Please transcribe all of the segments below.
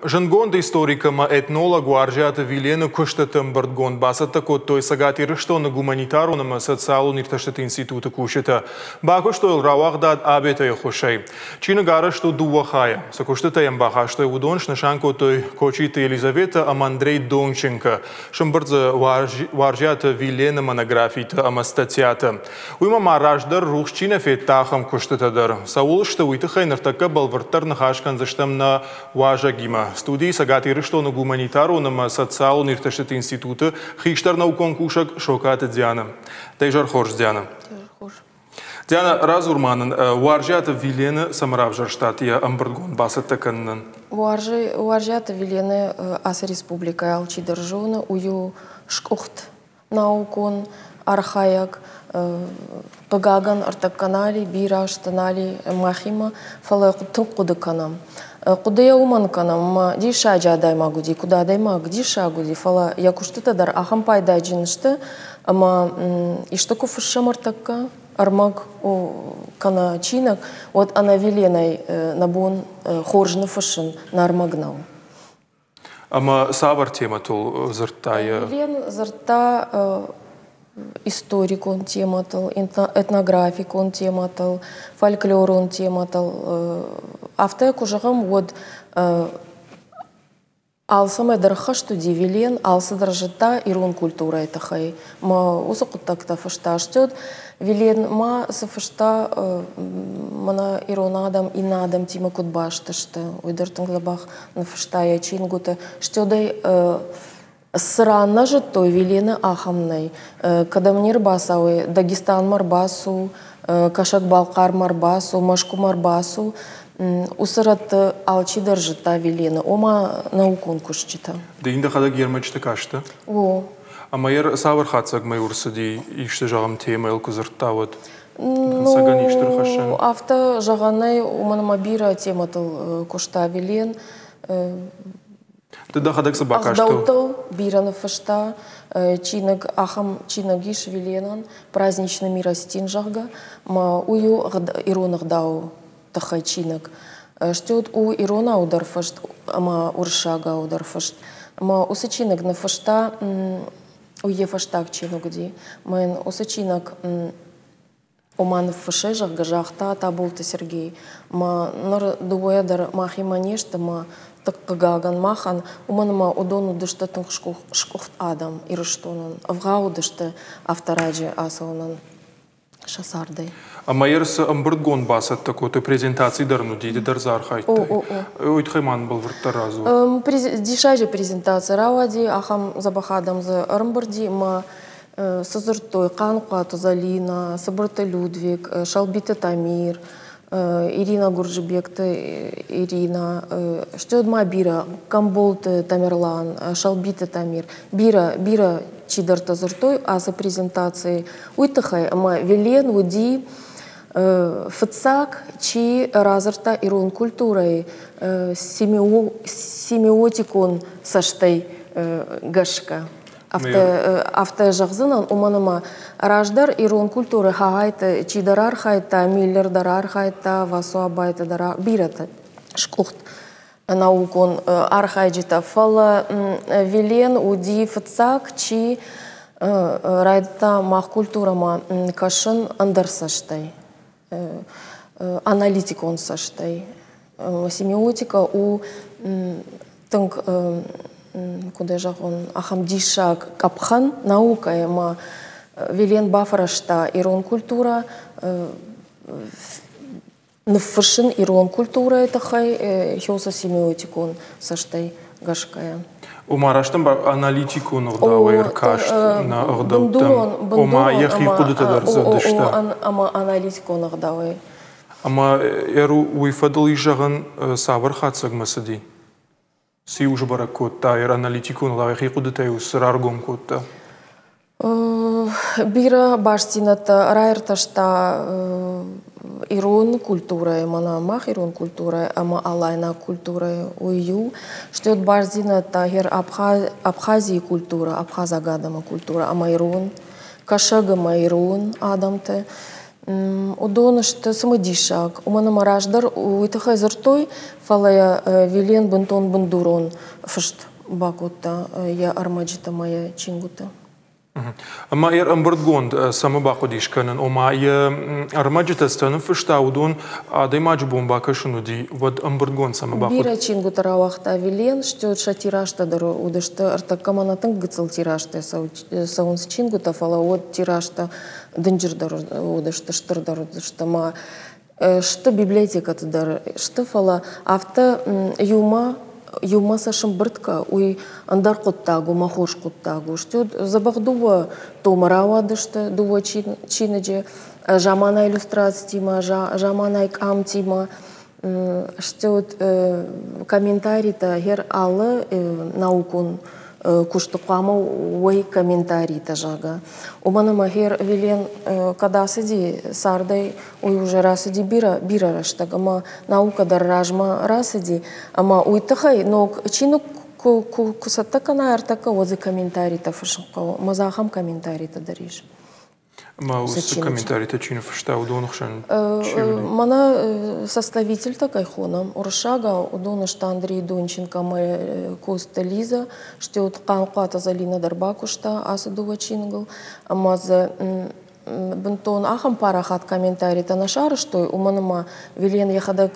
Зындгонд историк ӕмӕ этнолог Уарзиаты Вилены куыстыты ӕмбырдгонд бацӕттӕ кодтой Цӕгат Ирыстоны гуманитарон ӕмӕ социалон иртӕстыты институты кусджытӕ. Бакуыстой йыл рауагъдад Абетӕйы ӕххуысӕй. Чиныг арӕзт у дыууӕ хайӕ. Цы куыстытӕ йӕм бахастой, уыдон снысан кодтой Кочиты Елизаветӕ ӕмӕ Андрей Донченко. Сӕмбырд дзы Уарзиаты Вилены монографитӕ ӕмӕ статьятӕ. Уыимӕ ма раздӕр рухс чи нӕ федта, ахӕм куыстытӕ дӕр. Цӕуыл сты, уый тыххӕй ныртӕккӕ бӕлвырддӕр ныхас кӕндзыстӕм нӕ уазӕгимӕ. Студийы Цӕгат Ирыстоны гуманитарон ӕмӕ социалон иртӕстыты институты хистӕр наукон кусӕг Сокаты Диана. Дӕ изӕр хорз, Диана. Диана, радзур ма нын, Уарзиаты Вилены цӕмӕ равзӕрстат йӕ ӕмбырдгонд бацӕттӕ кӕнынӕн? Уарзиаты Вилены ацы республикӕйы алчидӕр зоны, уый у скъуыхт наукон архайӕг, хъыгагӕн, ӕртӕккӕ нал и, бирӕ азты нал и махимӕ, фӕлӕ тынг хъуыды кӕнӕм. Хъуыдыйӕ уымӕн кӕнӕм, ӕмӕ диссаджы адӕймаг уыди, куыд адӕймаг диссаг уыди, фӕлӕ йӕ куыстытӕ дӕр ахӕм пайдаджын сты, ӕмӕ исты куы фыссӕм ӕртӕккӕ, ӕрмӕг кӕнӕ чиныг, уӕд ӕнӕ Виленӕй нӕ бон хорз ныффыссын нӕ ӕрмӕг нӕу. Ӕмӕ цавӕр темӕтыл дзырдта йӕ? Елен дзырдта историкон темӕтыл, этнографикон темӕтыл, фольклорон темӕтыл. Афтӕ куы зӕгъӕм, уӕд алцӕмӕй дӕр хӕст уыди Вилен, алцыдӕр зыдта ирон культурӕйы тыххӕй. Мӕ уыцы хъуыддӕгтӕ фыста стӕд. Вилен ма цы фыста, мӕнӕ ирон адӕм иннӕ адӕмтимӕ куыд баст сты, уый дӕр тынг дзӕбӕх ныффыста йӕ чингуыты. Стӕй цы ран нӕ зыдтой, Вилены ахӕм нӕй. Кӕдӕм не рбацӕуой, Дагестанмӕ ӕрбацу, Кӕсӕг-Балхъармӕ ӕрбацу, Мӕскуымӕ ӕрбацу, уыцы рӕтты алчидӕр зыдта Вилены, ома наукон кусджытӕ. Ды йын дӕхӕдӕг йе рмӕджыты кастӕ? О. Ӕмӕ йӕ цавӕр хатдзӕгмӕ ӕрцыди, исты, зӕгъӕм, темӕйыл куы дзырдта, уӕд? Ну, афтӕ зӕгъӕн нӕй, уымӕн ӕмӕ бирӕ темӕтыл куыста Вилен. Ды дӕхӕдӕг цы бакастӕ? Ӕгъдӕуттыл бирӕ ныффыста. Чиныг, ахӕм чиныг ис Виленӕн «Праздничный миростин», зӕгъгӕ. Ӕмӕ уый у ирон ӕгъдауы тыххӕй чиныг. Стӕй у иронау дӕр фыст ӕмӕ уырыссагау дӕр фыст. Ӕмӕ уыцы чиныг ныффыста уый йӕ фӕстаг чиныг уыди. Мӕ йын уыцы чиныг ома ныффыссы, зӕгъгӕ, загъта Таболты Сергей. Мӕ ныр дыууӕйӕ дӕр махимӕ не сты, мӕ тынг хъыгагӕн махӕн, уымӕн ӕмӕ уыдон уыдысты тынг сгуыхт адӕм Ирыстонӕн, ӕвгъау уыдысты афтӕ раджы ацӕуынӕн. сӕ цардӕй. Ӕмӕ цы ӕмбырдгонд бацӕттӕ кодтой, презентаци дӕр ын уыди, ды дӕр дзы архайдтай. Уый тыххӕй ма нын бӕлвырддӕр радзур. Диссаджы презентаци рауади, ахӕм дзӕбӕх адӕм дзы ӕрӕмбырди ӕмӕ цы дзырдтой Хъаныхъуаты Залинӕ, Цыбырты Людвиг, Шалбиты Тамир, Ирина Гурджибекты Ирина, стӕй ма бирӕ Гамболты Тамерлан, Шалбиты Тамир, бирӕ, бирӕ чидӕртӕ дзырдтой ацы презентацийы. Уый тыххӕй ӕмӕ Вилен уыди фыццаг, чи радзырдта ирон культурӕйы семиотикон цӕстӕй гӕсгӕ. Афтӕ зӕгъдзынӕн, уымӕн ӕмӕ раздӕр ирон культурӕ хагайты чидӕр архайдта, Миллер дӕр архайдта, Васо Абайты дӕр бирӕтӕ скъуыхт наукон архайджытӕ. Фӕлӕ Вилен уыди фыццаг, чи райдыдта мах культурӕмӕ кӕсын ӕндӕр цӕстӕй, аналитикон цӕстӕй. Семиотика у тынг, куыд ӕй зӕгъон, ахӕм диссаг къӕпхӕн наукӕйы ӕмӕ Вилен бафӕрӕзта ирон культурӕ ныффыссын ирон культурӕйы тыххӕй хёсы семиотикон цӕстӕй гӕсгӕйӕ. Ома раст аналитикон ӕгъдауӕй ӕркаст нӕ ӕгъдӕуттӕм, ома йӕхи хъуыдытӕ дӕр дзырдысты. Ӕмӕ аналитикон ӕгъдауӕй. Ӕмӕ ӕру уый фӕдыл ис зӕгъӕн, цавӕр хатдзӕгмӕ цыди? Цы-иу сбӕрӕг кодта, йӕ аналитикон ӕгъдауӕй йӕхи хъуыдытӕ-иу цы раргом кодта? Бирӕ бастдзинӕдтӕ раиртӕста ирон культурӕйы, мӕнӕ мах ирон культурӕйы ӕмӕ алайнаг культурӕйы, уый иу. Стӕй бастдзинӕдтӕ гъер Абхазийы культурӕ, абхазаг адӕмы культурӕ ӕмӕ ирон, кӕсӕг ӕмӕ ирон адӕмты. Уыдон сты цымыдисаг, уымӕн ӕмӕ раздӕр уый тыххӕй дзырдтой, фӕлӕ Вилен бынтон бындурон фыст бакодта йӕ ӕрмӕджытӕ ӕмӕ йӕ чингуыты. Ӕмӕ йӕ ӕмбырдгонд цӕмӕ бахъуыдис кӕнын? Ома йӕ ӕрмӕджытӕ цы ныффыста, уыдон адӕймаджы бон бакӕсын уыди, уӕд ӕмбырдгонд цӕмӕ бахъуыд? Бирӕ чингуытӕ рауагъта Вилен, стӕй сӕ тиражтӕ дӕр уыдысты. Ӕртӕккӕ мӕнӕ тынг гыццыл тиражтӕ цӕуынц чингуытӕ, фӕлӕ уӕд тиражтӕ дынджырдӕр уыдысты, стырдӕр уыдысты ӕмӕ сты библиотекӕты дӕр сты, фӕлӕ афтӕ иумӕ иумӕ сӕ сӕмбырд кӕ, уый ӕндӕр хъуыддаг у, мӕ хорз хъуыддаг у. Стӕй дзӕбӕх дыууӕ томы рауадысты, дыууӕ чиныджы, заманай иллюстрацитимӕ, заманай къамтимӕ, стӕй комментаритӕ хер алы наукон куысты хъуамӕ уой комментаритӕ, зӕгъгӕ. Уымӕн ӕмӕ хер Вилен кӕд ацыди цардӕй, уый уже рацыди бирӕ, бирӕ рӕстӕг ӕмӕ наукӕ дӕр размӕ рацыди. Ӕмӕ уый тыххӕй ног чиныг куы, куы, куы цӕттӕ кӕна ӕртӕккӕ, уӕд дзы комментаритӕ фыссын хъӕуы. Ӕмӕ дзы ахӕм комментаритӕ дӕр ис. Ӕмӕ уыцы комментаритӕ чи ныффыста, уыдоны хсӕн чи уыди? Мӕнӕ составительтӕ кӕй хонӕм, уырыссагау, уыдон сты Андрей Донченко ӕмӕ Коста Лиза, стӕй вот Хъанхъуаты Зӕлинӕ дӕр бакуыста ацы дыууӕ чиныгыл. Ӕмӕ дзы бынтон ахӕм парахат комментаритӕ нӕ сарӕзтой, уымӕн ӕмӕ Вилен йӕхӕдӕг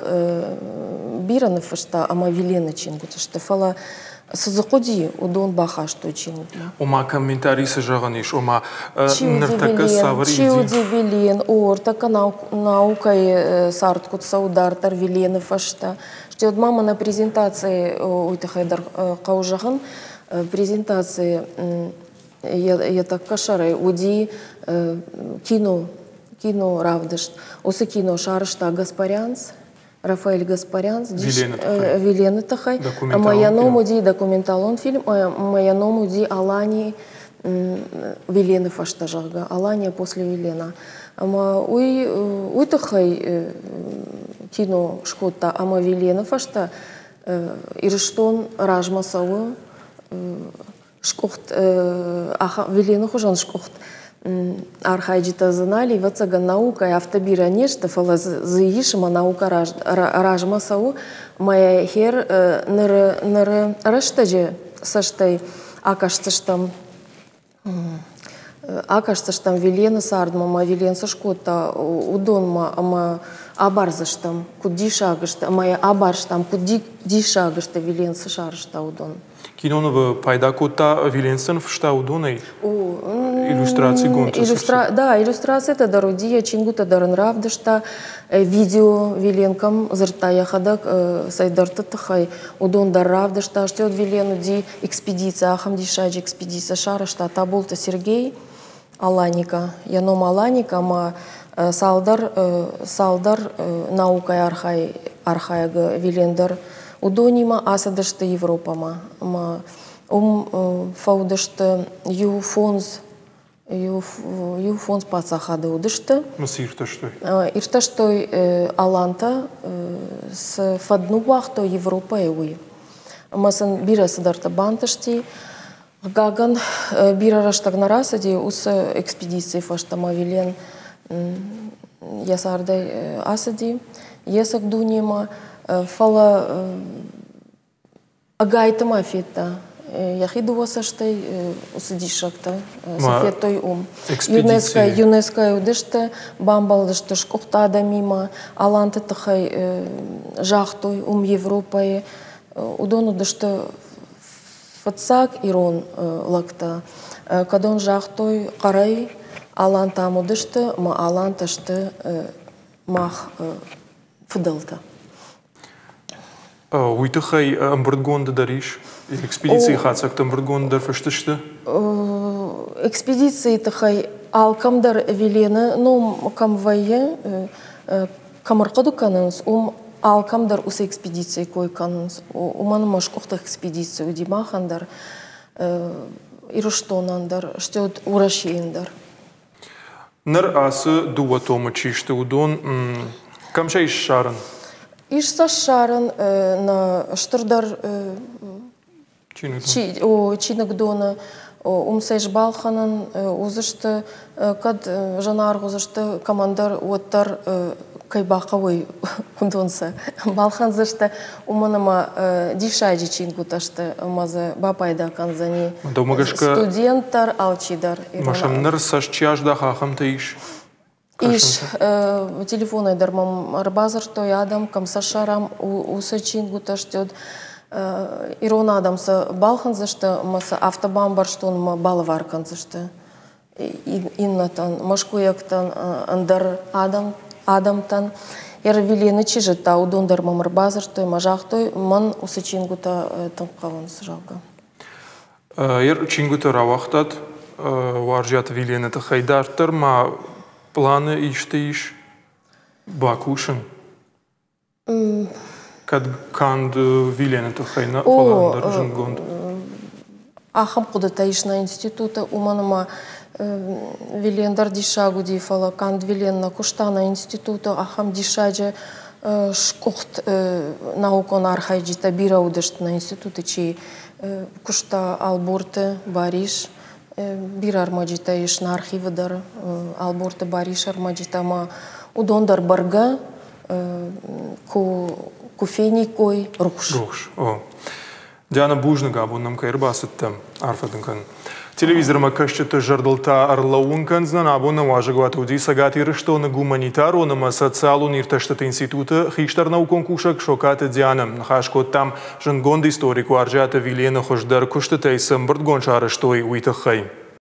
бирӕ ныффыста ӕмӕ Вилены чингуытӕ сты, фӕлӕ цы дзы хъуыди, уыдон бахастой чиныгмӕ. Ома комментарий цы зӕгъӕн ис, ома ныртӕккӕ цавӕр Чи уыди Вилен? О, ӕртӕккӕ наукӕйы цард куыд цӕуы дарддӕр Вилены фӕстӕ. Стӕй ма мӕнӕ презентацийы уый тыххӕй дӕр хъӕуы зӕгъын. Презентацийы йӕ тӕккӕ сӕрӕй уыди кино, кино равдыст. Уыцы кино сарӕзта Гаспарянц, Рафаэль Гаспарянц Вилены тыххӕй. Ӕмӕ йӕ ном уыди документалон фильм, ӕмӕ йӕ ном уыди Алани Вилены фӕстӕ, зӕгъгӕ, Алания после Вилена. Ӕмӕ уый уый тыххӕй кино скодта, ӕмӕ Вилены фӕстӕ Ирыстон размӕ цӕуы скъуыхт Вилены хуызӕн скъуыхт архайджытӕ дзы нал, ӕвӕццӕгӕн, наукӕйы афтӕ бирӕ не сты, фӕлӕ дзы ис ӕмӕ наукӕ размӕ цӕуы. Мӕ хер ныры, ныры рӕстӕджы цӕстӕй акӕсдзыстӕм акӕсдзыстӕм Вилены цардмӕ ӕмӕ Вилен цы скодта, уыдонмӕ ӕмӕ абардзыстӕм, куыд диссаг сты, ӕмӕ йӕ абарстам, куыд диссаг сты, Вилен цы сарӕзта, уыдон. Кинонывы пайда кодта Виленсон фыста уыдонӕй? Иллюстрацигонд Да, иллюстрацитӕ дӕр уыди, йӕ чингуытӕ дӕр ын равдыста. Видео Виленкӕм дзырдта йӕхӕдӕг цӕйдӕрты тыххӕй, уыдон дӕр равдыста. Стӕй уӕд Вилен уыди экспедици, ахӕм диссаджы экспедици сарӕзта Таболты Сергей Аланика. Йӕ ном Аланика ӕмӕ цалдӕр, цалдӕр наукӕйы архайӕг Вилен дӕр уыдонимӕ ацыдысты Европӕмӕ ӕмӕ уым фӕуыдысты иу фондз иу, иу фондз паддзахады уыдысты. Цы иртӕстой? Иртӕстой алантӕ, цы фӕд ныууагътой Европӕйы, уый. Ӕмӕ сын бирӕ цыдӕртӕ бантысти. Хъыгагӕн, бирӕ рӕстӕг нӕ рацыди уыцы экспедицийы фӕстӕмӕ Вилен йӕ цардӕй ацыди йе цӕг дунемӕ, фӕлӕ ӕгайтма федта йӕхи дыууӕ цӕстӕй уыцы диссӕгтӕ, цы федтой уым. ЮНЕСКО-йы уыдысты, бамбӕлдысты скъуыхт адӕмимӕ, аланты тыххӕй загътой уым Европӕйы. Уыдон уыдысты фыццаг ирон лӕгтӕ, кӕдон загътой хъӕрӕй, алантӕм уыдысты ӕмӕ алантӕ сты мах фыдӕлтӕ. Уый тыххӕй ӕмбырдгонды дӕр ис? Экспедицийы хатдзӕгтӕ ӕмбырдгонды дӕр фыст сты? Экспедицийы тыххӕй алкӕм дӕр Велены ном кӕм вӕййы, кӕм ӕрхъуыды кӕнынц, уым алкӕм дӕр уыцы экспедицийы кой кӕнынц. Уымӕн ӕмӕ скъуыхты экспедици уыди махӕн дӕр, Ирыстонӕн дӕр, стӕй уыд Уӕрӕсейӕн дӕр. Ныр ацы дыууӕ томы чи сты, уыдон кӕм сӕ ис ссарын? Ис сӕ ссарын нӕ стырдӕр чиныгдоны. Уым сӕ сбалхӕнӕн уыдзысты, кӕд зынаргъ уыдзысты кӕмӕндӕр, уӕддӕр кӕй бахъӕуой, уыдон сӕ балхӕндзысты, уымӕн ӕмӕ диссаджы чингуытӕ сты ӕмӕ дзы бапайда кӕндзӕни студент дӕр, алчидӕр. Ӕмӕ сӕм ныр цӕст чи аздаха, ахӕмтӕ ис? Ис. Телефонӕй дӕр мӕм ӕрбадзырдтой адӕм, кӕм сӕ ссарӕм, уыцы чингуытӕ сты. Ирон адӕм сӕ балхӕндзысты ӕмӕ сӕ афтӕ бамбӕрстон ӕмӕ балӕвар кӕндзысты иннӕтӕн, мӕскуыйӕгтӕн, ӕндӕр адӕмтӕн. Ервилены чи зыдта, уыдон дӕр мӕм ӕрбадзырдтой ӕмӕ загътой, мӕн уыцы чингуытӕ тынг хъӕуынц, зӕгъгӕ. Чингуытӕ рауагътат Уарзиаты Вилены тыххӕй. Дарддӕр ма планы исты ис бакусын? Кӕд канд Вилены тыххӕй нӕ, фӕлӕ ӕндӕр зындгонд. Ахӕм хъуыдытӕ ис нӕ институты, уымӕн ӕмӕ Вилен дӕр диссаг уыди, фӕлӕ канд Вилен нӕ куыста нӕ институты, ахӕм диссаджы сгуыхт наукон архайджытӕ бирӕ уыдысты нӕ институты, чи куыста Ӕлборты Барис, бирӕ ӕрмӕджытӕ ис нӕ архивы дӕр Ӕлборты Барис ӕрмӕджытӕ ӕмӕ уыдон дӕр бӕргӕ куы фениккой рухс. Рухс, о. Диана, бузныг, абон нӕм кӕй ӕрбацыдтӕ. Арфӕ дын кӕнын. Телевизормӕ кӕсджыты зӕрдыл та ӕрлӕууын кӕндзынӕн, абон нӕ уазӕгуаты уыди Цӕгат Ирыстоны гуманитарон ӕмӕ социалон иртӕстыты институты хистӕр наукон кусӕг Сокаты Дианӕ. Ныхас кодтам, зындгонд историк Уарзиаты Вилены хуыздӕр куыстытӕй цы ӕмбырдгонд сарӕзтой, уый тыххӕй.